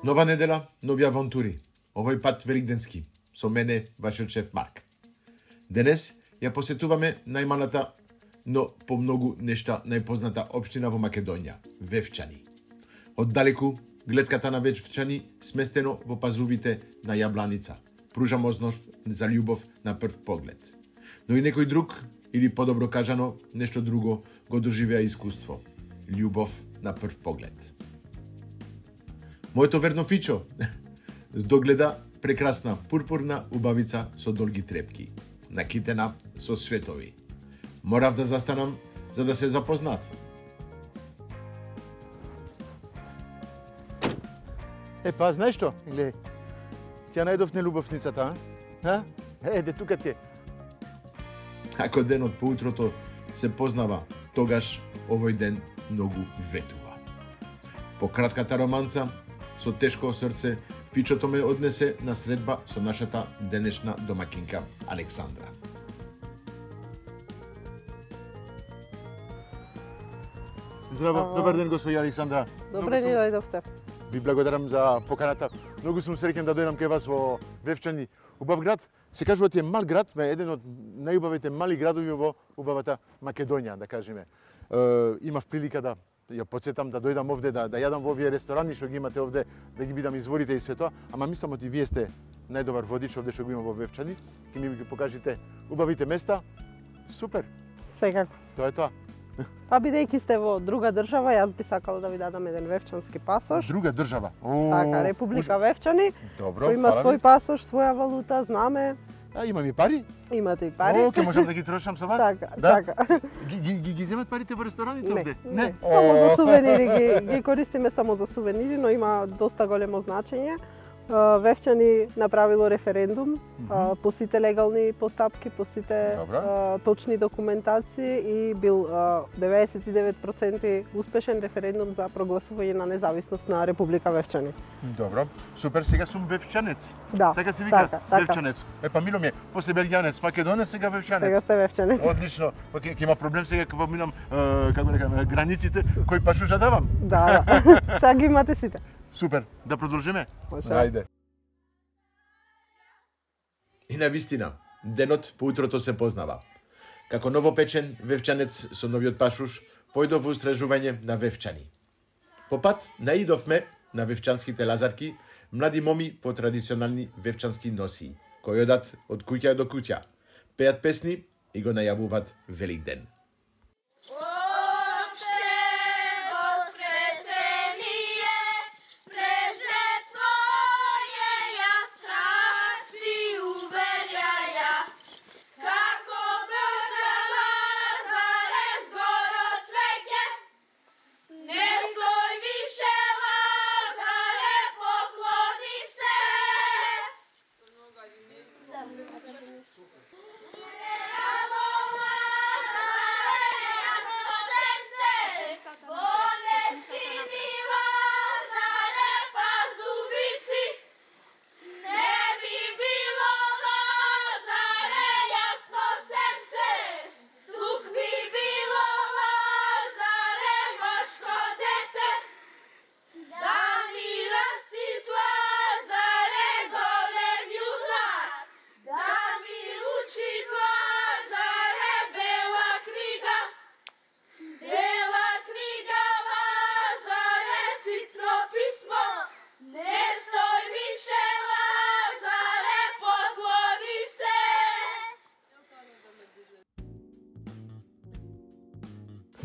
Нова недела, нови авантури. Овој пат великденски. Со мене, вашиот шеф Марк. Денес ја посетуваме најмалата, но по многу нешта најпозната општина во Македонија, Вевчани. Оддалеку, гледката на Вевчани сместено во пазувите на Јабланица. Пружа можност за љубов на прв поглед. Но и некој друг, или подобро кажано, нешто друго, го доживеа искуство. Љубов на прв поглед. Моето верно фичо догледа прекрасна пурпурна убавица со долги трепки, накитена со светови. Морав да застанам за да се запознат. Па, знаеш што? Гледај, ти ја најдов нелубовницата, а? Еде, тука ти е. Ако денот по утрото се познава, тогаш овој ден многу ветува. По кратката романца, со тешко срце, фичото ме однесе на средба со нашата денешна домакинка Александра. Здраво, добар ден, господи Александра. Добре ни дојдовте. Ви благодарам за поканата. Многу сум среќен да дојдам кај вас во Вевчани. Убав град, се кажува ти е мал град, ме еден од најубавите мали градови во убавата Македонија, да кажеме. Имав прилика да ја потсетам да дојдам овде, да јадам во овие ресторани што ги имате овде, да ги видам изворите и све тоа, ама мислам оти вие сте најдобар водич овде што го има во Вевчани, ќе ми ги покажете убавите места. Супер. Секако. Тоа е тоа. Па бидејќи сте во друга држава, јас би сакала да ви дадам еден вевчански пасош. Друга држава. Така, Република Вевчани. Добро, Кој има свој пасош, своја валута, знаме. Имам и пари? Имате и пари. Ке можам да ги трошам со вас? Така, да? така. Ги земат парите во рестораните овде? Не, само за сувенири ги користиме само за сувенири, но има доста големо значење. Вевчани направило референдум по сите легални постапки, по сите точни документации и бил 99% успешен референдум за прогласување на независност на Република Вевчани. Добро, супер, сега сум вевчанец. Да, така се вика, така. вевчанец. Па мило ми е, после белгијанец, македонец, сега вевчанец. Сега сте вевчанец. Одлично. Ќе има проблем сега кога минам, како да кажам, границите, кој пашуша давам? Да. Сега ги имате сите. Супер, да продолжиме? Може. Ајде. И на вистина, денот по утрото се познава. Како новопечен вевчанец со новиот пашуш, појдов во истражување на Вевчани. По пат наидовме на вевчанските лазарки, млади моми по традиционални вевчански носии, кои одат од куќа до куќа, пеат песни и го најавуваат Великден.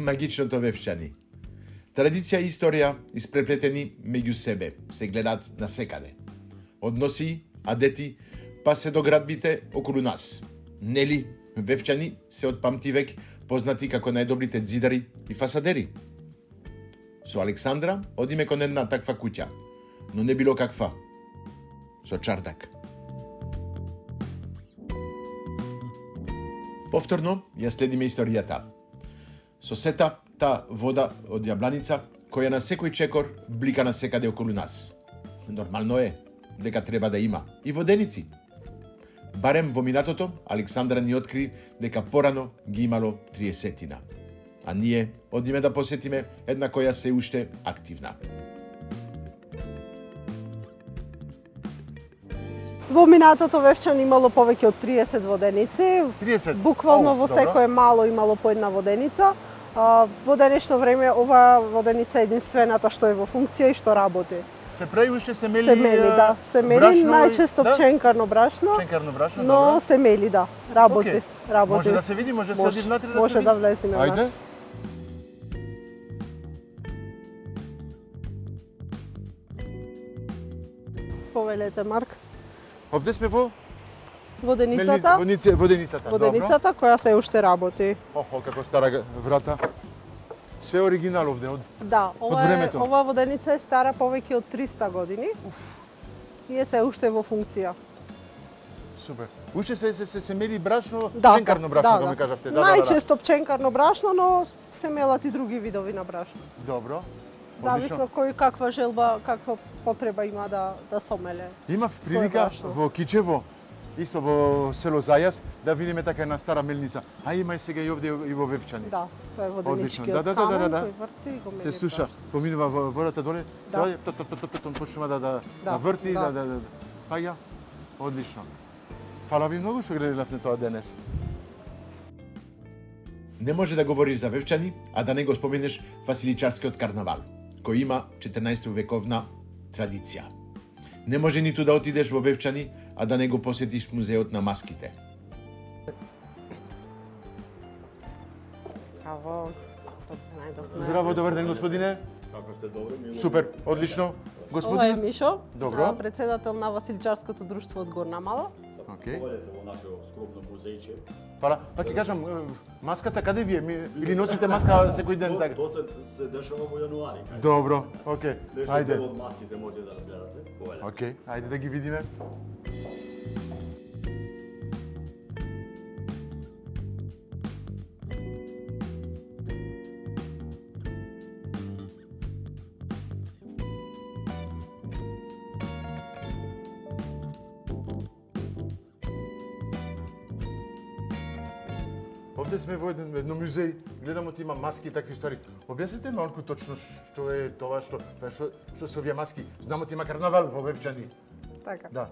Магичното Вевчани. Традиција и историја испреплетени меѓу себе, се гледаат насекаде. Од носи, адети, па се до градбите околу нас. Нели, Вевчани се од памтивек познати како најдобрите ѕидари и фасадери. Со Александра одиме кон една таква куќа, но не било каква. Со чардак. Повторно ја следиме историјата. Со сета та вода од Јабланица, која на секој чекор блика на секаде околу нас. Нормално е дека треба да има и воденици. Барем во минатото, Александра ни откри дека порано ги имало 30-тина. А ние одиме да посетиме една која се уште активна. Во минатото Вевчан имало повеќе од 30 воденици. 30? Буквално во секое мало имало по една воденица. Во денешно време ова воденица е единствената што е во функција и што работи. Се прави уште се мели? Се мели, да. Се мели најчесто пченкарно брашно. Пченкарно брашно, но добро. се мели, да. Работи. Работи. Може да се види, може да се оди внатре да се види? Може да влеземе внатре. Ајде. Повелете, Марк. Овде сме во воденицата. Воденицата. Воденицата која се уште работи. Охо, како стара врата. Све оригинал овде од времето. Ова воденица е стара повеќе од 300 години. И е се уште во функција. Супер. Уште се мели брашно, пченкарно брашно, како ми кажавте. Најчесто пченкарно брашно, но се мелат и други видови на брашно. Добро. Зависно кој каква желба, каква потреба има да сомеле. Има прилика во Кичево, исто во село Зајас, да видиме така една стара мелница. А има и сега и овде и во Вевчани. Да, тоа е воденичкиот камен кој врти и го мели. Се слуша, поминува водата доле, се почнува да врти, да паѓа. Одлично. Фала ви многу што гледавте тоа денес. Не може да говориш за Вевчани, а да не го споменеш Василичарскиот карнавал, кој има 14 вековна традиција. Не може ниту да отидеш во Вевчани, а да не го посетиш музеот на маските. Здраво, добар ден, господине. Како сте добри? Супер, одлично. Ова е Мишо, Добро. председател на Василичарското друштво од Горна Мала. Поведете во нашето скромно музејче. Фала. Па ќе кажам, маската каде ви е? Или носите маска секој ден така? Тоа се дешава во јануари. Добро, окей. Ајде. Од маските може да разгледате. Поведете. Окей, ајде да ги видиме. Овде сме во едно музеј, гледам има маски и такви ствари. Објаснете малку точно што е тоа, што се овие маски. Знамо има карнавал во Вевчани. Така. Да.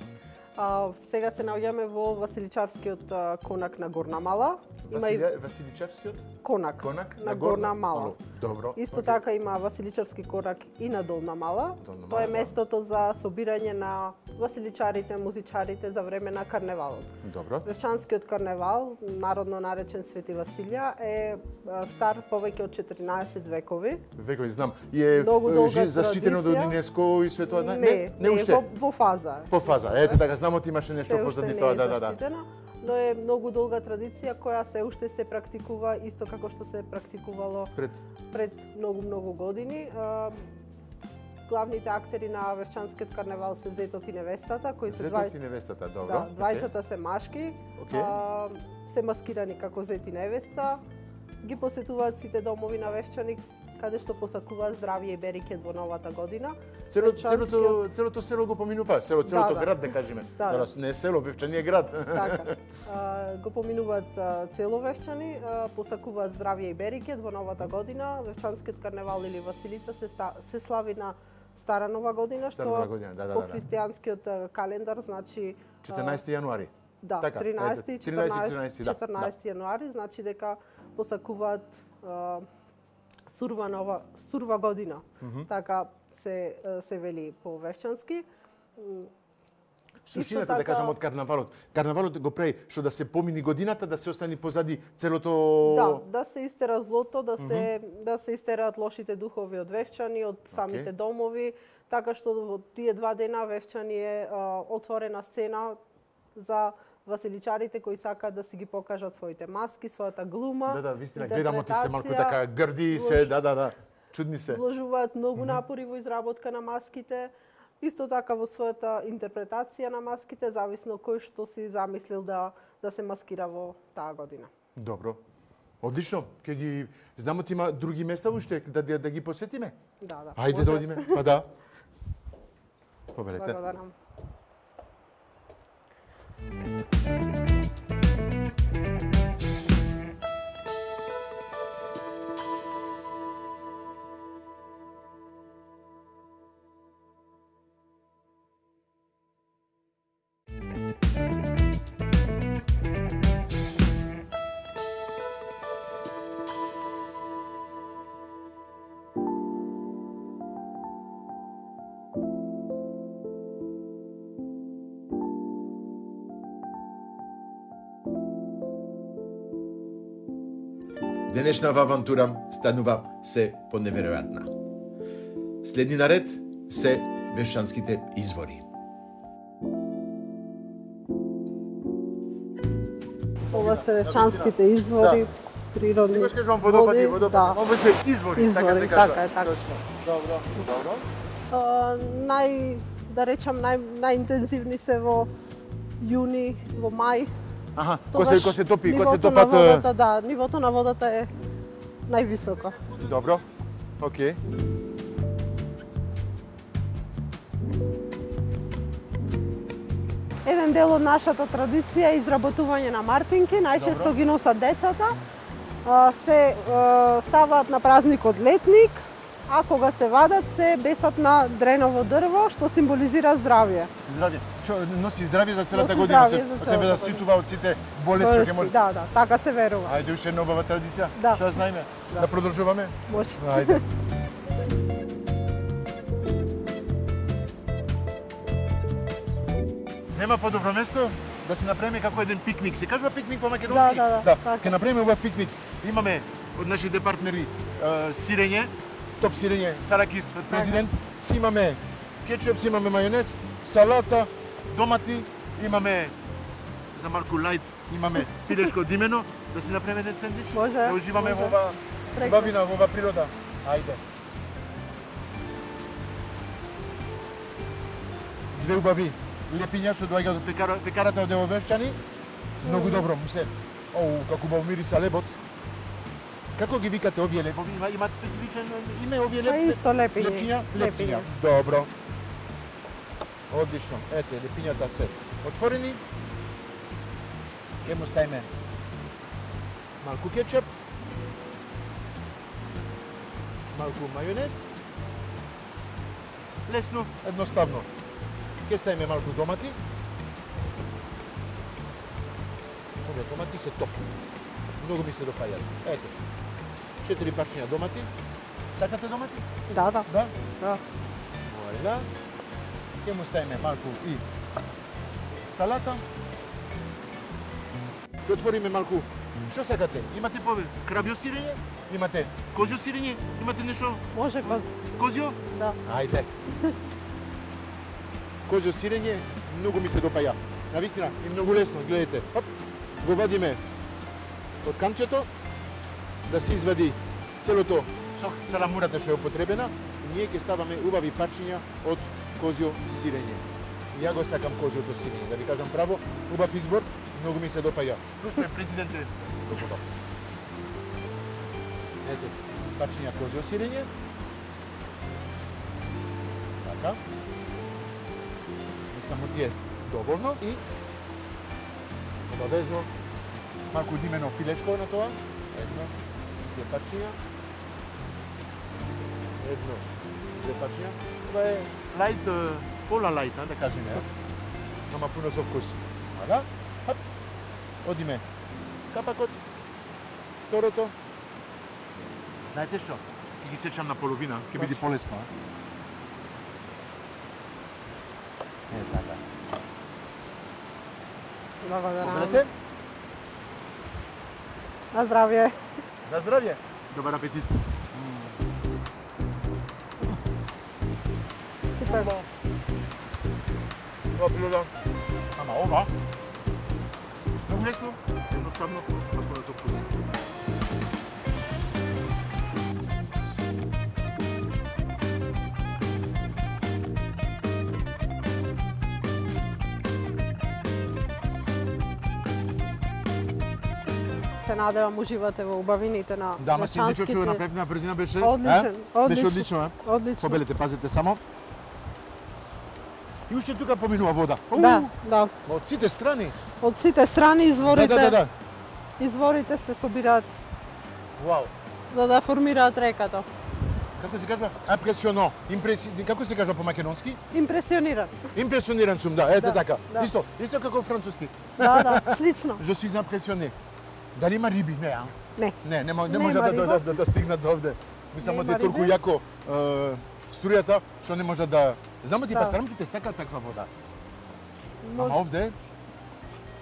Сега се наоѓаме во Василичарскиот конак на Горна Мала. Василичарскиот? Конак на Горна Мала. Добро. Исто така има Василичарски конак и на Долна Мала. Тоа е местото за собирање на василичарите, музичарите за време на карневалот. Добро. Вевчанскиот карневал, народно наречен Свети Василија, е стар повеќе од 14 векови. Векови, знам. И е заштитено од ЮНЕСКО и све тоа? Не уште. Во фаза. По фаза. Ете така, знам имаше нешто позади тоа, да. Но е многу долга традиција која се уште се практикува исто како што се практикувало пред многу години. Главните актери на Вевчанскиот карневал се Зетот и невестата, кои се Зетот и невестата, добро. Да, двајцата се машки. Се маскирани како Зет и невеста. Ги посетуваат сите домови на Вевчани каде што посакуваат здравје и берекет во новата година. Целото село го поминува, целото град да кажеме. Не е село, Вевчани е град. Така. Го поминуваат цело Вевчани, посакуваат здравје и берекет во новата година. Вевчанскиот карневал или Василица се слави на Стара нова година, што по христијанскиот календар значи 14 јануари. Да, 13 и 14 јануари, значи дека посакуваат сурва година. Така се вели по вевчански. Суштината, да кажам, од карнавалот. Карнавалот го прави што да се помини годината, да се остани позади целото... Да се истера злото, да се истераат лошите духови од Вевчани, од самите домови, така што во тие 2 дена Вевчани е отворена сцена за василичарите кои сакаат да си ги покажат своите маски, својата глума. Да, вистина, гледам ти се малку така грди се, чудни се. Вложуваат многу напори во изработка на маските. Исто така во својата интерпретација на маските, зависно кој што си замислил да се маскира во таа година. Добро. Одлично. Ќе ги знамо ти има други места уште да ги посетиме? Да. Ајде да одиме. Па да. Побелете. Благодарам. денешната авантура станува се поневеројатна. Следни наред се вешчанските извори. Ова се вешчанските извори, природни Ти кажувам водопади, води, да. Ова се извори, така се Извори, кажува. така е, така. Точно. Добро. Да речам, најинтензивни се во јуни, во мај. Аха, Тогаш кој се топи, кој се нивото топат... на водата, да, нивото на водата е највисоко. Добро, окей. Еден дел од нашата традиција е изработување на мартинки, најчесто ги носат децата. Се ставаат на празникот летник, а кога се вадат се бесат на дреново дрво, што символизира здравје. Здравје. Носи здравје за целата Носи година, здравје за од целата себе да година. штитува од сите болести што ќе може. Да, така се верува. Ајде уште една убава традиција. Да. Што ја знаеме? Да. Да продолжуваме? Може. Ајде. Нема подобро место да се направиме како еден пикник. Се кажува пикник по македонски? Да, така. Ќе направиме убав пикник. Имаме од нашите партнери сирење, топ сирење, саракис од президент. Си имаме кетчуп, си имаме мајонез, салата, домати, имаме за малку лајт, имаме пилешко димено, да си направиме еден сендвич. Може, Да уживаме може. во ова убавина, во ова природа. Ајде. Две убави лепиња што доаѓаат од пекарата од Девовевчани. Многу добро, мисле. Оу, како убаво мириса лебот. Како ги викате овие лебови? Имаат специфичен име овие Па исто лепиња. Лепиња? Лепиња. Добро. Одлично. Ете, лепињата се отворени. Ке му ставиме малку кетчуп, малку мајонез. Лесно, едноставно. Ке ставиме малку домати. Овие домати се топ. Многу ми се допаѓаат. Ете. 4 парчиња домати. Сакате домати? Да. Да? Да. Војла. Ке му ставиме малку и салата. Ке отвориме малку. Што сакате? Имате пове кравјо сирење? Имате козјо сирење? Имате нешто Може козјо? Да. Ајде. Козјо сирење многу ми се допаја. Навистина, и многу лесно, гледате. Хоп, го вадиме од камчето, да се извади целото саламурата што е употребена, и ние ќе ставаме убави парчиња од козјо сирење. Ја го сакам козјото сирење, да ви кажам право, убав избор, многу ми се допаја. Просто е президенте господа. Ете, парчиња козјо сирење. Така. Само ти е доволно и обавезно малку димено пилешко на тоа. Едно, две парчиња. Едно, две парчиња. Ова е лајт, пола лајт, да кажеме. Нама пуно со вкус. Ага, хап. Одиме капакот, второто. Знаете што? Ќе ги сечам на половина, ќе биде полесно. Е, така. Благодарам. Победете? На здравје. На здравје. Добар апетит. Супер. Ова природа. Ама ова. Многу лесно, едноставно, а пуно со вкус. Се надевам уживате во убавините на Да, ма сендвичот што го вешчанските. направив на брзина беше. Одличен, Беше одлично. одлично, а? Одлично. Побелете, пазете само. И уште тука поминува вода. Да. Ма од сите страни. Од сите страни изворите, Да. изворите се собираат Вау. за да формираат реката. Како се кажува? Импресионо. Како се кажува по македонски? Импресиониран. Импресиониран сум, да, ете Да, така. да. Исто како француски. Да, слично. Je suis impressionné. Дали има риби? Не, а? Не. Не Нема може риба. да стигнат до овде. Мислам Нема да е толку риби. јако струјата, што не може да... Знамо ти Да. пастрамките сакаат таква вода. Ама Може, овде,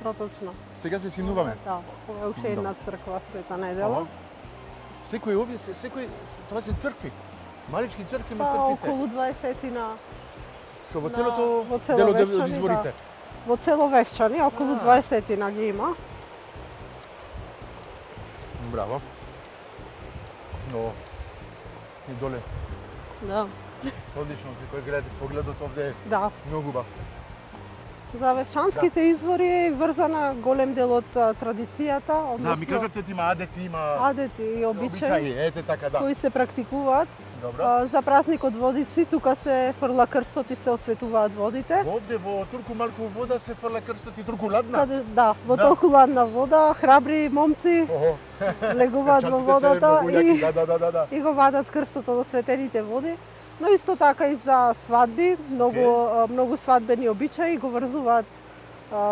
проточно. сега се симнуваме. Да, ова е уште една црква Света Недела. Ова, Секој овие, тоа се цркви. Малички цркви, Па цркви се. околу 20-тина. Што во целото во цело дело од Вевчани, изворите. Во цело Вевчани, околу 20-тина ги има. Браво. Но и доле. Да. Одлично, кој гледате, погледот овде е Да. многу убав. За Вевчанските извори е врзана голем дел од традицијата, Да, односно ми кажавте ти има адети, има адети и обичаи ете така да. кои се практикуваат. Добро. За празникот Водици тука се фрла крстот и се осветуваат водите. Овде во Турку малку вода се фрла крстот и Турку ладна. Каде, да, во толку ладна вода, храбри момци Охо. легуваат во Вевчанците се водата многу јаки, и да. и го вадат крстот од осветените води. Но исто така и за свадби, многу свадбени обичаи го врзуваат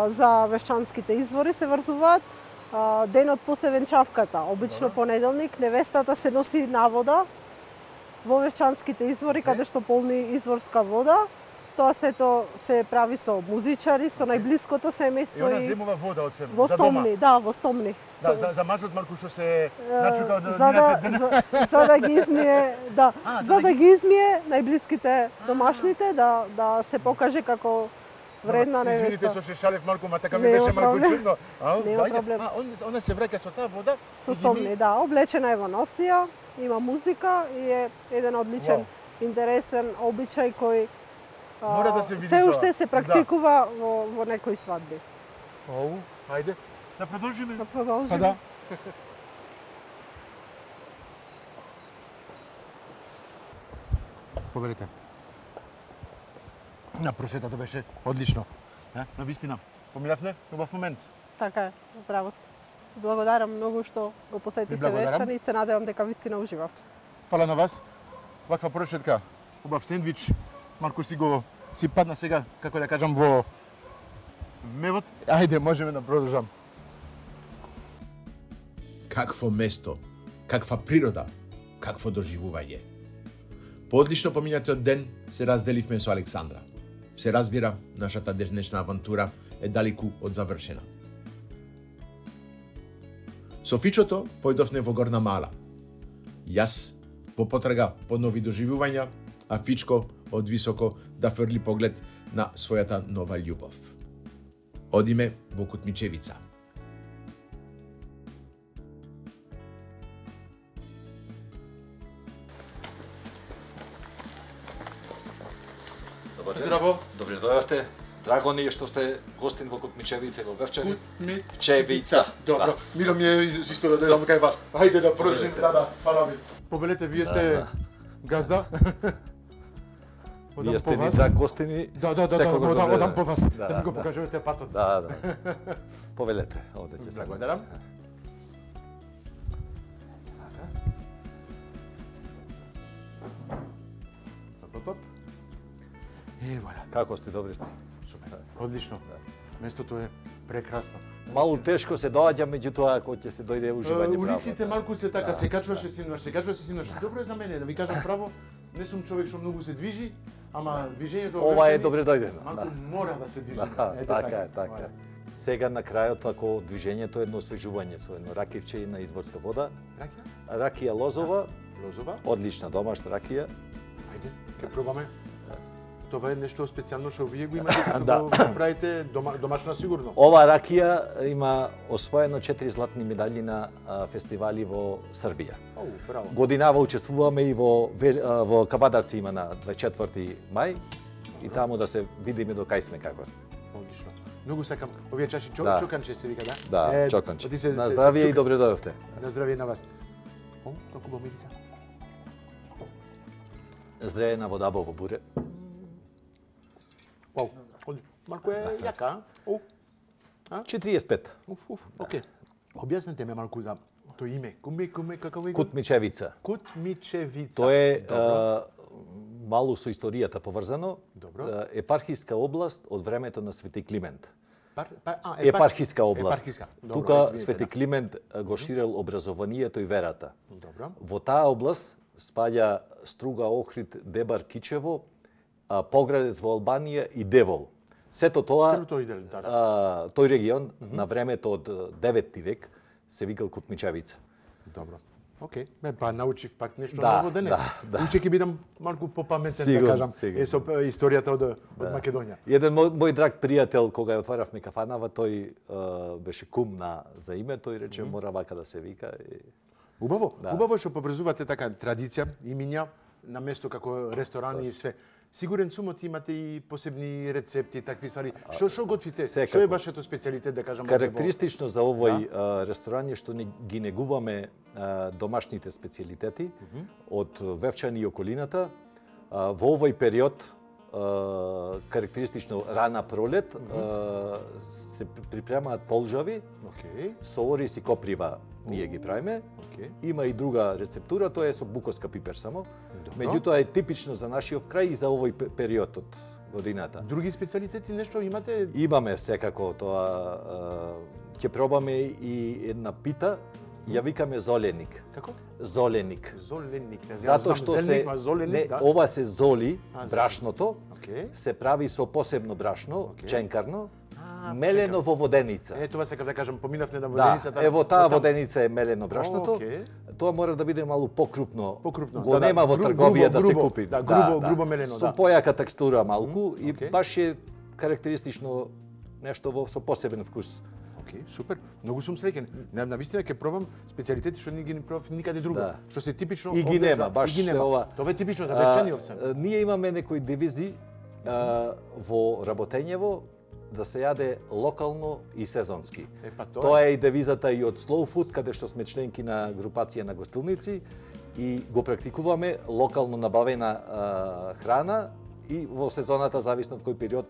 за Вевчанските извори се врзуваат. Денот после венчавката, обично понеделник, невестата се носи на вода во Вевчанските извори каде што полни изворска вода. Тоа сето се прави со музичари, со најблиското И семејство она земува вода од себе, во за дома. стомни, да, во стомни. Да, за мажот малку што се начука од за да ги измие, да, за да ги измие најблиските домашните, да се покаже како вредна Извините невеста. што се шалев малку, ма така ми Нема беше малку проблем. чудно. Нема Ајде, проблем. Она се враќа со таа вода. Со стомни, да, облечена е во носија, има музика и е еден одличен, интересен обичај кој Мора да се види се тоа. уште се практикува во некои свадби. Оу, ајде, да продолжиме. Да продолжиме. Па да. Поверите. На прошетата беше одлично. На вистина. Поминавме убав момент. Така е, право сте. Благодарам многу што го посетивте благодарам. Вевчани и се надевам дека вистина уживавте. Фала на вас. Ваква прошетка, убав сендвич. Малку си падна сега, како да кажам, во мевот. Ајде, можеме да продолжам. Какво место, каква природа, какво доживување. По одлично поминатиот ден се разделивме со Александра. Се разбира, нашата денешна авантура е далеку од завршена. Со Фичото појдовме во Горна Мала. Јас во потрага по нови доживувања, а Фичко од високо да фрли поглед на својата нова љубов. Одиме во Кутмичевица. Здраво. Добре дојавте. Драго ни е што сте гостин во Кутмичевица и во Вевчани. Кутмичевица. Добро. Мило ми е исто да дојдам кај вас. Ајде да продолжим. Да, фала ви. Повелете, вие сте газда? Вие сте ни за гостини. Да, одам по вас. Да ми го покажувате патот. Да. Повелете, овде ќе се. Благодарам. Топ. Валя. Како сте, добри сте? Супер. Одлично. Местото е прекрасно. Малку тешко се доаѓа, меѓутоа кога ќе се дојде уживање право. Улиците малку се така, се качуваше симнаш. Добро е за мене, да ви кажам право, не сум човек што многу се движи, ама движењето Ова е добре дојдено. малку мора да се движи. Така е. Сега на крајот, ако движењето е едно освежување со едно ракивче на изворска вода, Ракија? ракија лозова, Лозова? одлична домашна ракија. Ајде, ќе пробаме. Това е нешто специјално што вие го имате, што Да. го правите домашна сигурно. Ова ракија има освоено 4 златни медали на фестивали во Србија. Оу, браво. Годинава учествуваме и во Кавадарци има на 24 мај и таму да се видиме до кај сме како. Одлично. Многу сакам овие чаши Да. чоканче се вика, да? Да, чоканче. оти се- На се- здравје се и добре дојдовте. На здравје на вас. О, како бо мирица. Зреена вода во буре. Вау, малку е јака, Оу, 45. окей. Објаснете ме малку за тој име. Куме, како ви го? Кутмичевица. Кутмичевица. Тоа е Добро. мало со историјата поврзано. Добро. Епархиска област од времето на Свети Климент. Епархиска област. Епархиска. Добро, Тука извинете, Свети да. Климент го ширел образованието и верата. Добро. Во таа област спаѓа Струга, Охрид, Дебар, Кичево, Поградец во Албанија и Девол. Сето тоа, Целото иде, да. тој регион на времето од 9 век се викал Кутмичевица. Добро. Океј, па научив пак нешто Да, ново денес. да. Уште ќе бидам малку попаметен, да Сигурно, кажам, сигурно. со историјата од Македонија. Еден мој драг пријател, кога ја отваравме кафанава, тој беше кум за име, тој рече мора вака да се вика. Убаво, Да. убаво што поврзувате така традиција, имиња на место како ресторани и све. Сигурен сум имате и посебни рецепти, такви ствари. Што готвите? секако. Што е вашето специјалитет, да кажам? Карактеристично за овој ресторан е што ги негуваме домашните специјалитети од Вевчани и околината. Во овој период, карактеристично рана пролет, се припремаат полжави, Океј, со ориз и коприва ние ги правиме. океј. Има и друга рецептура, тоа е со буковска пипер само. Добро. Меѓутоа е типично за нашиот крај и за овој период од годината. Други специјалитети нешто имате? Имаме секако тоа, ќе пробаме и една пита, ја викаме золеник. Како? Золеник. Золеник. Не Затоа знам што зеленик, ма золеник, не, да. ова се золи А, брашното, Океј. се прави со посебно брашно, Океј. ченкарно, А, мелено во воденица. Е, тоа сакав да кажам, поминавме на Да, воденицата. ево таа Оттам. воденица е мелено брашното. Океј. Тоа мора да биде малку покрупно. Покрупно, Го да, да. нема во Грубо, трговија да се грубо, купи. да, грубо мелено, Со да. појака текстура малку и океј. баш е карактеристично нешто со посебен вкус. Океј, супер. Многу сум среќен. Навистина ќе пробам специјалитети што не ги пробав никаде друго. Да. Што се типично И ги овде нема, за- баш и ги нема. ова. Тоа е типично за Вевчани овце. Ние имаме некои девизи во работењево да се јаде локално и сезонски. Па Тоа е и девизата и од Slow Food, каде што сме членки на групација на гостилници и го практикуваме локално набавена храна и во сезоната, зависно од кој период,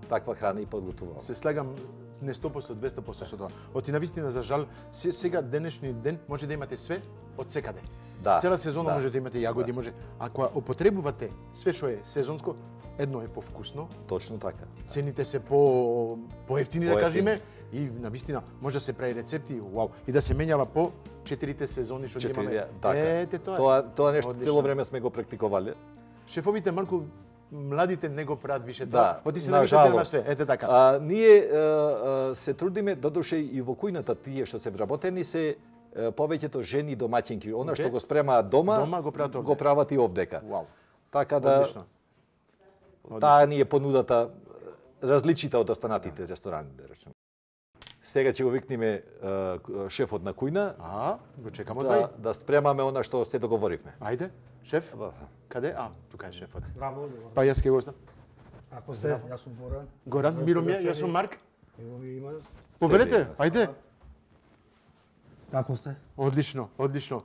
таква храна и подготвуваме. Се слагам не 100%, 200% со тоа. Оти навистина за жал, сега денешни ден може да имате све од секаде. Да, Цела сезона да, може да имате јагоди, може. Ако употребувате све што е сезонско, едно е повкусно, Точно така. цените се поевтини да Поевтини. кажеме и навистина може да се прави рецепти, вау, и да се менјава по 4 сезони што ги имаме. Така. Ете тоа. Тоа нешто Одлично. цело време сме го практикувале. Шефовите малку младите не го прават више Да, тоа. Оти се на навишате на жалост. све. Ете така. Ние се трудиме, додуше и во кујната тие што се вработени се повеќето жени домаќинки. Она што Океј. го спремаат дома, Дома го прават овде. го прават и овдека. Вау. Така да Одлично. таа ни е понудата различита од останатите ресторани, да речеме. Сега ќе го викнеме шефот на кујна Го чекам од вај. да спремаме она што се договоривме. Ајде, шеф. Каде? Тука е шефот. Браво, добро. Па јас ќе го оставам. Ако сте, јас сум Горан. Горан, мило ми е, јас сум Марк. Ево ви има. Повелете, ајде. Како сте? Одлично, одлично.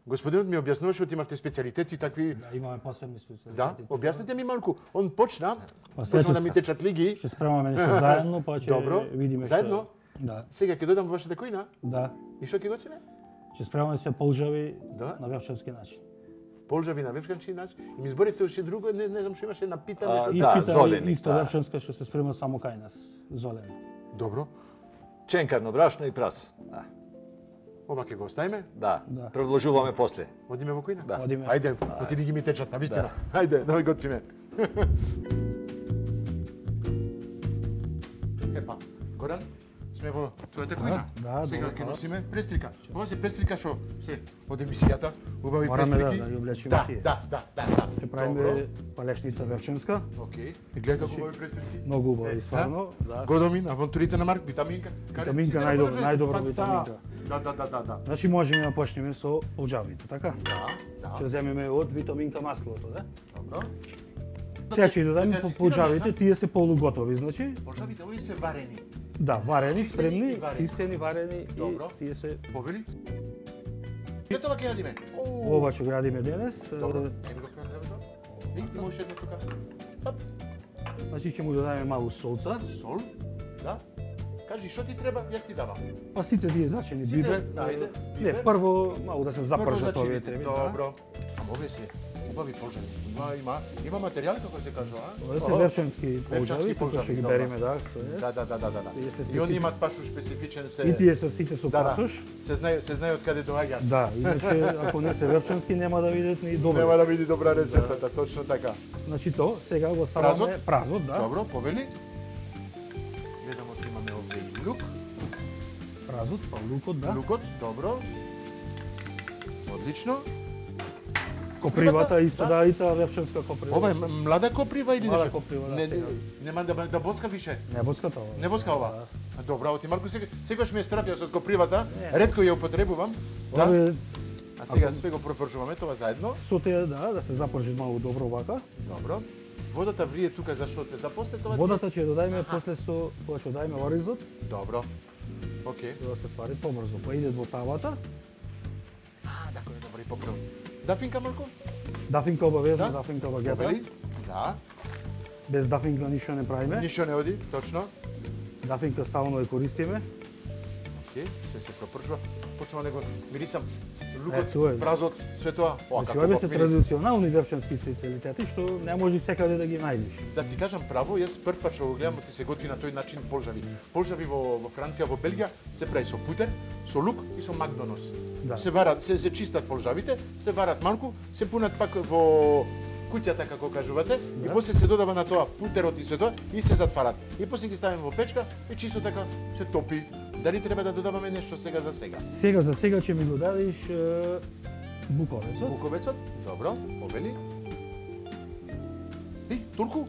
Господинот ми објаснуваше што имавте специјалитети такви. Да, имаме посебни специјалитети. Да, објаснете ми малку. Он почна, Па сега почна да ќе ми течат лиги. Ќе спремаме нешто заедно, па ќе Добро. видиме Заедно? Да, Сега ќе дојдам во вашата кујна. да. И што ќе готвиме? Ќе спремаме се полжави Да. на вевчански начин. Полжави на вевчански начин. И ми зборивте уште друго, не знам што имаше една пита нешто. И Да, пита золеник, исто да. вевчанска што се спрема само кај нас, золено. Добро. Ченкарно брашно и прас. Ова ќе го оставиме. Да, Да. продолжуваме после. Одиме во кујна. Да. Одиме. Ајде, оти ги ми течат, навистина. Ајде, да готвиме. Епа, Горан, сме во твојата кујна. Да, Сега добро, ќе да. носиме престрика. Ова се престрика што се од емисијата, убави Мораме престрики. да ги облечеме Да, тие. да. Ќе правиме палешница вевчанска, Океј. И гледа како убави престрики. многу убави, стварно. Да. Годомин, авантурите на Марк, витаминка. Витаминка, Сите најдобро, можете. најдобро Па, витаминка. Да. Значи можеме да почнеме со полжавите, така? Да. Ќе земеме од витаминка маслото, да? Добро. Сега ќе додадеме Ќе по асистираме, полжавите, са? тие се полуготови, значи. Полжавите, овие се варени. Да, варени, Чистени спремни, и варени. чистени, варени Добро. и тие се Повели? Се тоа ќе јадиме. ова ќе го јадиме денес. Добро, еме го прелевето. И има уште едно тука. Оп, Значи ќе му додадеме малку солца, сол. Да. Кажи, што ти треба, јас ти давам. па сите тие зачини Сите, бибер. ајде, Не, бибер. прво малку да се запржат Прво овие зачините. треби. Добро. Ама овие се убави полжави. Има материјал како се кажува, а? Ова се вевчански полжави, Вевчански тука полжави, ќе ги добро. береме, да, тоа е. Да. Тие се И они специфични. имаат пашу специфичен се. И тие се сите со Да. пасош. Се знае од каде доаѓаат. Да, иначе ако не се вевчански нема да видат ни добро. Нема да види добра рецептата, точно така. Значи тоа, сега го ставаме Празот? празот, да. Добро, повели. Гледам од имаме овде и лук. Празот, па лукот, да. Лукот, добро. Одлично. Копривата исто да, и таа вевчанска коприва. Ова е млада коприва или Млада нешто? коприва, да, Не, сега. нема да боцка више. Не боската ова. Не боцка ова. Добро, оти малку секогаш ме страфија со копривата. Ретко ја употребувам. Да. Ове А сега све го пропржуваме тоа заедно. со теја да се запржи малку добро вака. Добро. Водата врие тука зашто те запосле тоа? Водата ќе ја додајме после со кога ќе додајме оризот, Добро. Океј. да се свари побрзо. Па иде во тавата. Така е добро и поправ. Дафинка малку? Дафинка обавезно, Да. дафинка багета. Обели? Да. Без дафинка ништо не правиме. Ништо не оди, точно. Дафинка стално ја користиме. Океј, све се пропржува. Почнува него мирисам Е, лукот, тоа е. празот, све тоа. О, Значи, како ова убав се мирис. традиционални вевчански специјалитети што не може секаде да ги најдеш. Да ти кажам право, јас прв пат што го гледам ти се готви на тој начин полжави. Полжави во Франција, во Белгија се прави со путер, со лук и со макдонос. Да. Се варат, се чистат полжавите, се варат малку, се пунат пак во куќата како кажувате и после се додава на тоа путерот и се тоа и се затварат. И после ги ставиме во печка и чисто така се топи. Дали треба да додаваме нешто сега за сега? Сега за сега ќе ми го дадеш буковецот. Буковецот, добро, обели. И, турку?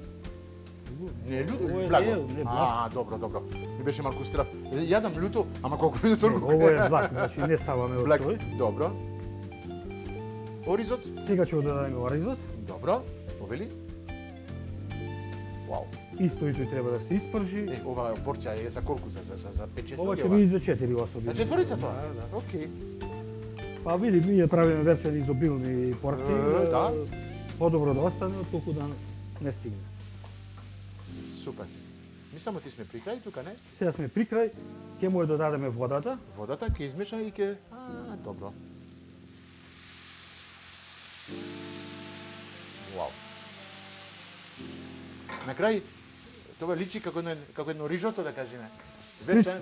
Не е лјуто, Ова е благо. не, благ. Добро, добро. Ми беше малку страв. Јадам лјуто, ама колку ми турку. Ова е благ, значи не ставаме од Благ, тој. добро. Оризот, Сега ќе го додадеме оризот. добро, обели. Вау. Исто и тој треба да се испржи. Ова порција е за колку? За 5-6 Ова ќе биде за 4 особи. За четворица тоа? Да, да. Океј. Па види, ние правиме вевчани изобилни порции. Да. Подобро да остане отколку да не стигне. Супер. Ми само ти сме при крај тука, не? Сега сме при крај, ќе му ја додадеме водата. Водата ќе измеша и ќе... добро. Вау. На крај, тоа личи како едно рижото, да кажеме.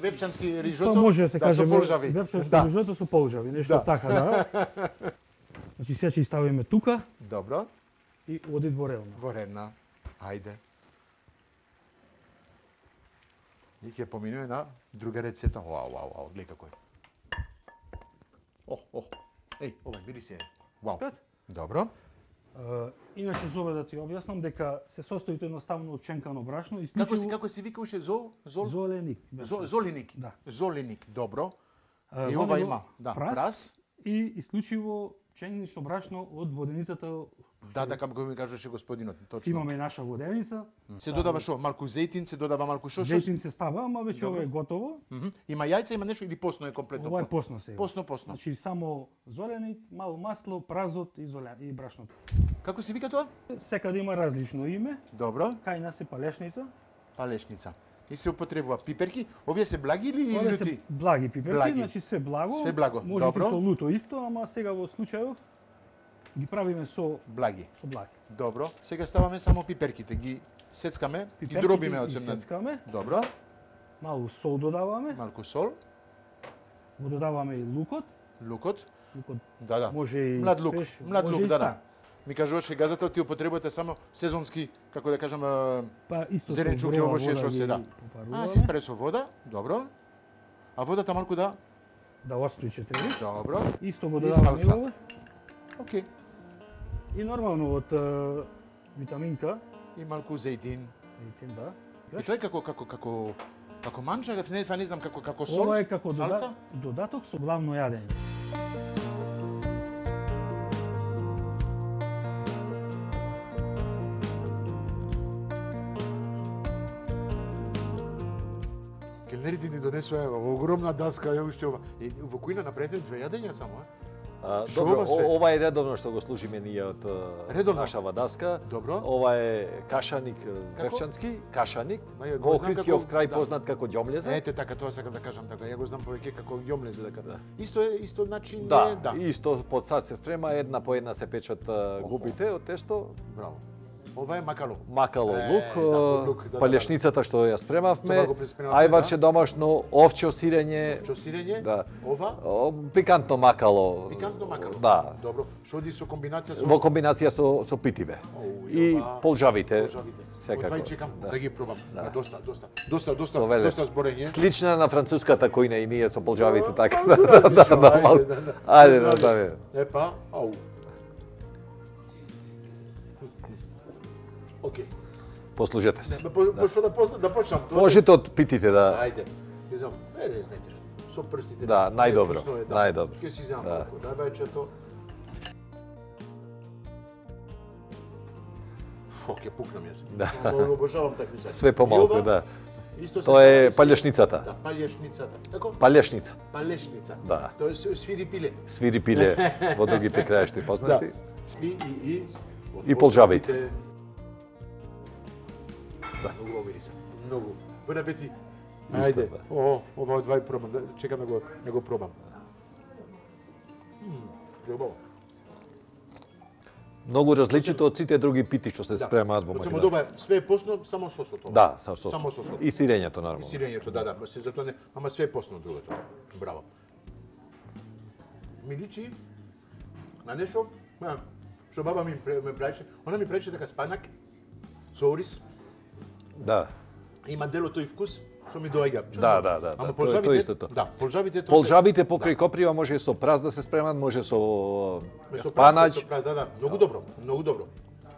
Вепчански рижото, Тоа може да се каже со полжави. вепчанско Да. рижото со полжави, нешто Да. така, да. Значи сега ќе ставиме тука Добро, и оди дворелна. во редна. Ајде. И ќе поминеме на друга рецепта. Вау, гледај како е. Еј, ова мириси е. Вау. Пет. Добро. Иначе зове да ти објаснам дека се состои едноставно од пченкано брашно, Како се викаше зол? золеник. Золиник. Да. Золиник, добро. И Вади ова го има, да, прас. и исклучиво пченично брашно од воденицата. Да, како ми кажеше господинот, Си точно. имаме наша воденица. Се додава шо? Малку зејтин, се додава малку шо? Зејтин се става, ама веќе ова е готово. Има јајца, има нешто или посно е комплетно? Ова е посно сега. Посно. Значи само золеник, мало масло, празот и брашното. Како се вика тоа? Секаде има различно име. Добро, Кај нас е палешница. палешница. И се употребува пиперки. Овие се благи или Овие се лути? благи пиперки, Благи. значи све благо. Све благо, Може добро. и со луто исто, ама сега во случајот ги правиме со Благи. благи. Добро. Сега ставаме само пиперките, ги сецкаме, ги Пиперките дробиме од ги земна. сецкаме, Добро. малку сол додаваме, Малку сол, го додаваме и лукот. лукот. Лукот Да. може и Млад лук, свеж, млад може лук, и да. стар. Ми кажуваше газата, ти употребувате само сезонски, како да кажам, Па исто зеленчук и овошје што се да. Се спре со вода, добро. А водата малку да? Да остри 4. Добро. Исто го И додаваме салса. ова. Океј. И нормално од витаминка, И малку зејтин. видите, да. И тоа е како манџа, не знам како сол. Ова е како салса. додаток со главно јадење. Келнерите ни донесоа огромна даска, ја уште ова. И во кујна направете 2 јадења само, Шо Добро, ова све? ова е редовно што го служиме ние од Редовно? нашава даска. Добро. Ова е кашаник вевчански, кашаник, Ма ја го во знам Охридскиов како- крај да. познат како ѓомлезе. Ете така, тоа сакам да кажам така. Ја го знам повеќе како јомлезе дека. Исто начин Да, е, да. исто под сад се спрема, една по една се печат губите од тесто. Браво. Ова е макало. Макало лук, лук, палешницата што ја спремавме, Тоа го преспремавме, ајваче домашно, овче сирење, Чосирење? да. Ова? Пикантно макало. Пикантно макало. Да. Добро. Што оди со комбинација со Во комбинација со питиве. И ова- полжавите. полжавите. Секако. Од чекам да ги пробам. Да, доста Повеле. доста зборење. Слична на француската којна и ние со полжавите така. Малку различно, малку. Ајде, Не знам. да. Епа, ау. Океј. Послужете се. Што да почнам? Тоа- Можете од питите да. Ајде. Ќе знам. Знаете што. Со прстите. Да, најдобро, Невкусно е, најдобро. Ќе си земам Да. малку. Дај вајчето. Ќе пукнам јас. Да. Обожавам такви се. Све помалку, И ова, да. исто се Тоа е прави со- палешницата. Да, палешницата. Како? Палешница. Палешница. Да. Тоа е свири пиле. Свири пиле во другите краишти познати. И полжавите. Да. Многу во мириса. Многу. Бон апетит. Исто, Ајде. да. Ова од двај пробам. Чекам да го пробам. Убаво. Многу различито од сите други пити што се спремаат во Само Македонија. добро, све е посно, само сосот. ова. Да, со сос. Само сосот. И сирењето И нормално. сирењето, да, се затоа не, ама све е посно другото. Браво. Ми личи на нешто, што баба ми правеше, она ми правеше така спанак со ориз, Да. има дело тој вкус, што ми доаѓа. Да, да, да, Ама да, полжавите, тоа е истото. Да, полжавите тоа Полжавите покрај коприва може со праз да се спремат, може со со спанач. прас, да, многу добро, многу добро.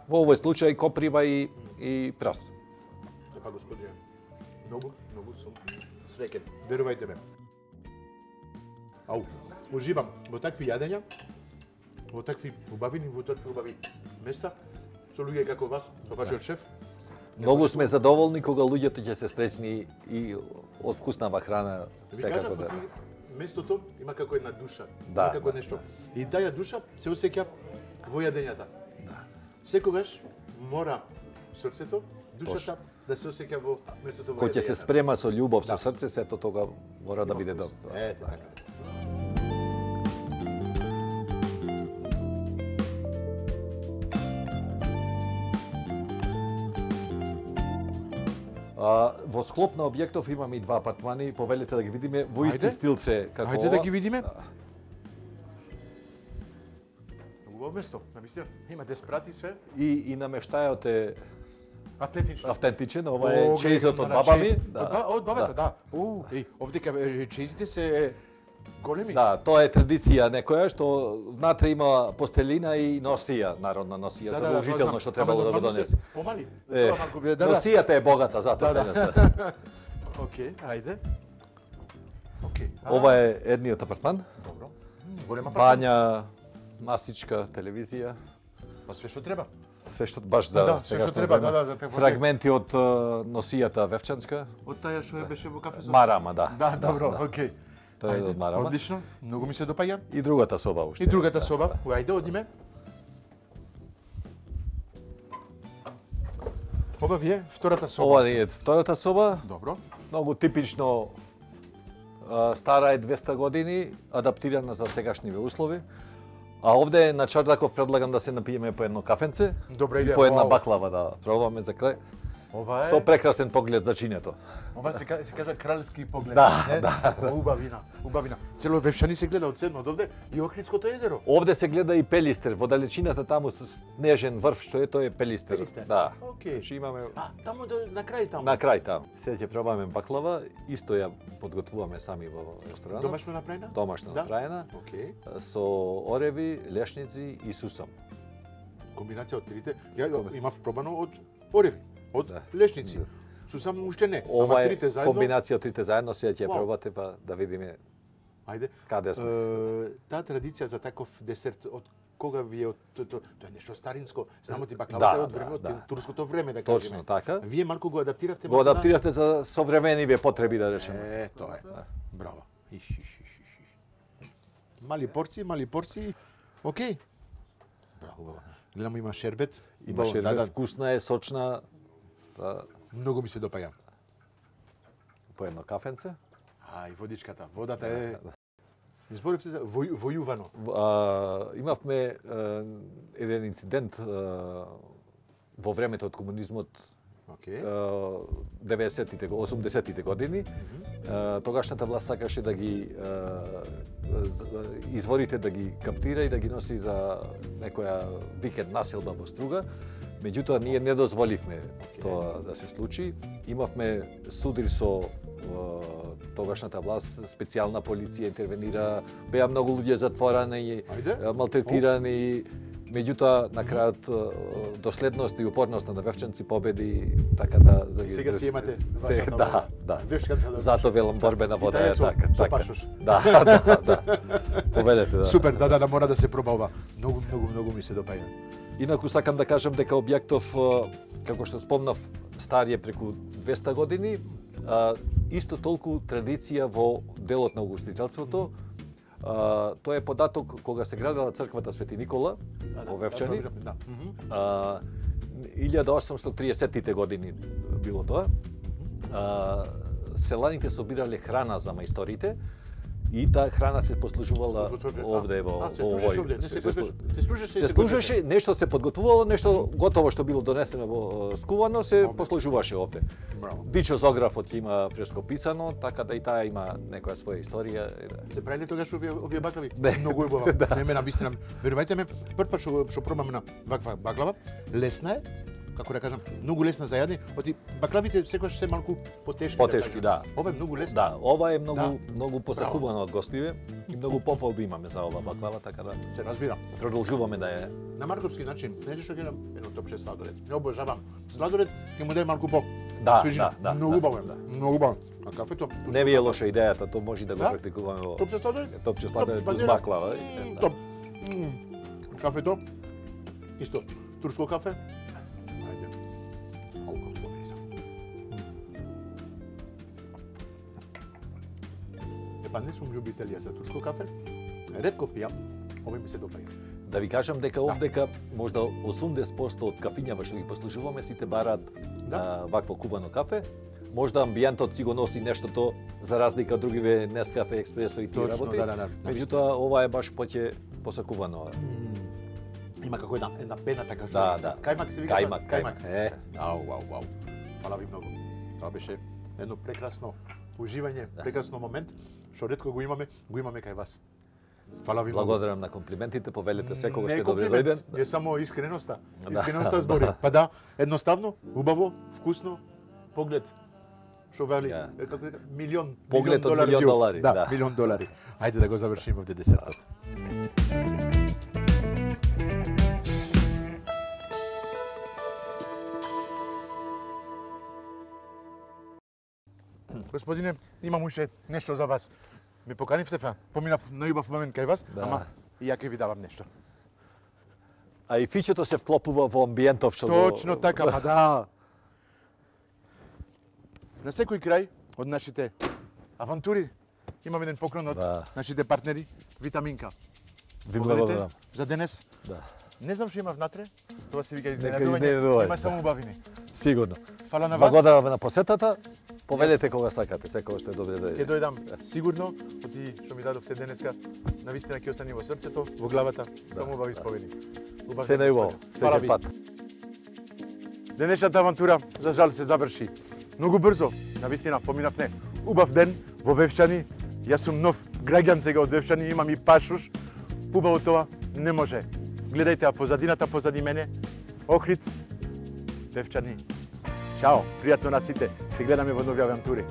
Во овој случај коприва и прас. Епа господине, многу сум среќен, верувајте ме. Ау, уживам во такви јадења, во такви убавини, во такви убави места, со луѓе како вас, со вашиот шеф. Многу сме задоволни кога луѓето ќе се среќни и од вкуснава храна Ви секако кажав, да. местото има како една душа, Да, има како да, нешто. И таа душа се осеќа во јадењата. Секогаш мора срцето, душата да се осеќа во местото во Кој ќе се јадењата. спрема со љубов, со Да. срце, сето тога мора да биде добро. Ете така. Во склоп на објектов имаме и два апартмани, повелете да ги видиме во исти Ајде. стилце како Ајде да ова. ги видиме. Убаво место, навистина. Има де спрати све. И намештајот е Автентично. автентичен, ова е чеизот од баба ми. Од бабата, да. Овдека чеизите се големи. Да, тоа е традиција некоја што внатре има постелина и носија, народна носија, задолжително што требало да го донесе. Помали. Е, Тоа малку да. Носијата е богата, затоа. Да. Океј, ајде. Океј. Ова е едниот апартман. Добро. Голема папа. Бања, масичка, телевизија, Па све што треба. све што баш за Да, све што сегашно треба, време. да, за такво Фрагменти од носијата Вевчанска. Од таја што беше во кафе со. Марама, да. Да, добро, океј. Тоа е од Марама. Одлично, многу ми се допаѓа. И другата соба уште. И другата соба, ајде одиме. Ова ви е втората соба. Ова е втората соба. Добро. Многу типично стара е 200 години, адаптирана за сегашниве услови. А овде на Чардаков предлагам да се напиеме по едно кафенце. Добра И идеја. по една Вау. баклава да пробаме за крај. Ова Со е, прекрасен поглед за чинето. ова се кажа кралски поглед. Да, не? Убавина, убавина. Цело Вевшани се гледа од цедно од овде и Охридското езеро. Овде се гледа и Пелистер, во далечината таму со снежен врв што е, тоа е Пелистер. Пелистер. Да. Океј. Значи имаме Таму на крај таму. на крај таму. Сега ќе пробаме баклава, исто ја подготвуваме сами во ресторанот. Домашно направена? Домашно Да. направена, Океј. со ореви, лешници и сусам. Комбинација од трите. Ја имав пробано од ореви, од Да. лешници. Да. Сусам уште не. Ова Ама е трите заедно. комбинација од трите заедно, сега ќе ја Вау. пробате па да видиме Ајде. каде сме. Таа традиција за таков десерт од кога ви е од тоа е нешто старинско. Знамо ти Да, баклавата е од да, време од да. турското време да Точно кажеме. така. Вие малку го адаптиравте Го малку на- адаптиравте за современиве потреби, да речеме. Тоа е. Браво. Мали порции. Океј. Браво. Гледам има шербет. Имаше Убаво, да, вкусна е, сочна, та, многу ми се допаѓа. по едно кафенце. И водичката. Водата е Изборивте за војувано. Имавме еден инцидент во времето од комунизмот, Океј. 90-тите, 80-тите години, тогашната власт сакаше да ги изворите да ги каптира и да ги носи за некоја викенд населба во Струга. Меѓутоа, ние не дозволивме тоа да се случи. Имавме судир со тогашната власт, специјална полиција интервенира, беа многу луѓе затворени, малтретирани. Меѓутоа, на крајот, доследност и упорноста на вевчанци победи, така да... Сега си имате вашата да. вевчанца да... Зато велам борбена вода е така. Со пашош. Да. Поведете, да. Супер, да, мора да се проба ова. Многу ми се допаѓа. Инаку сакам да кажам дека објектов, како што спомнав, стар е преку 200 години, исто толку традиција во делот на угостителството. Тоа е податок кога се градела црквата Свети Никола во Вевчани. 1830-тите години било тоа. Селаните собирале храна за мајсторите и таа храна се послужувала овде во овој. Се служеше, нешто се подготвувало, нешто готово што било донесено во скувано се послужуваше овде. Дичо Зографот ќе има фреско писано, така да и таа има некоја своја историја. Се правиле тогаш овие баклави? Многу убава. Не ме навистина. Верувајте ме, прв пат што пробаме на ваква баклава, лесна е, како да кажам, многу лесна за јадење. Оти баклавите секогаш се малку потешки. Потешки, да. Ова е многу лесна. Да, ова е многу посакувана од гостиве и многу пофалби имаме за ова баклава, така да се разбира. Продолжуваме да е на марковски начин. Знаете што гледам? Едно топче сладолед. Не обожавам. Сладолед ќе му дај малку по свежина. Многу убаво е. Многу убаво. А кафето? Не ви е лоша идејата, тоа може да го практикуваме во топче сладолед? Топче сладолед без баклава. Топ. Кафето? Исто турско кафе? Па не сум љубител ја за турско кафе. Ретко пијам, овој ми се допаѓа. Да ви кажам дека овдека можда 80% од кафињава што ги послужуваме сите бараат вакво кувано кафе. Можда амбиентот си го носи нештото за разлика од другиве Нескафе, Експресо и тие работи. Меѓутоа ова е баш поќе посакувано. Има како една пена така што. Да. Кајмак се вика. Кајмак. Вау. Фала ви многу. Тоа беше едно прекрасно уживање, прекрасно момент што ретко го имаме кај вас. Фала ви многу. Благодарам на комплиментите, повелете секогаш сте добре дојден. Не само искреноста. Искреноста збори. Па да, едноставно, убаво, вкусно, поглед. Што вели, како дека милион поглед од милион долари. Да, милион долари. Ајде да го завршиме овде десертот. Господине, имам уште нешто за вас. Ме поканивте, поминав најубав момент кај вас, ама и ја ќе ви давам нешто. А и фичето се вклопува во амбиентов што Точно така, па да. На секој крај од нашите авантури имаме еден поклон од нашите партнери Витаминка. Ви благодарам. За денес. Да. Не знам што има внатре, тоа се вика изненадување, има само убавини. Сигурно. Фала на вас. Благодарам на посетата. Повелете кога сакате, секогаш сте добре дојдени. Ќе дојдам сигурно, оти што ми дадовте денеска, навистина ќе остане во срцето, во главата, само убави спомени. Се најубаво, секој пат. Денешната авантура, за жал, се заврши. Многу брзо, навистина, поминав не. Убав ден во Вевчани, јас сум нов граѓан сега од Вевчани, имам и пашуш. Убаво тоа не може. Гледајте ја позадината позади мене, Охрид, Вевчани. Чао, пријатно на сите. Се гледаме во нови авантури.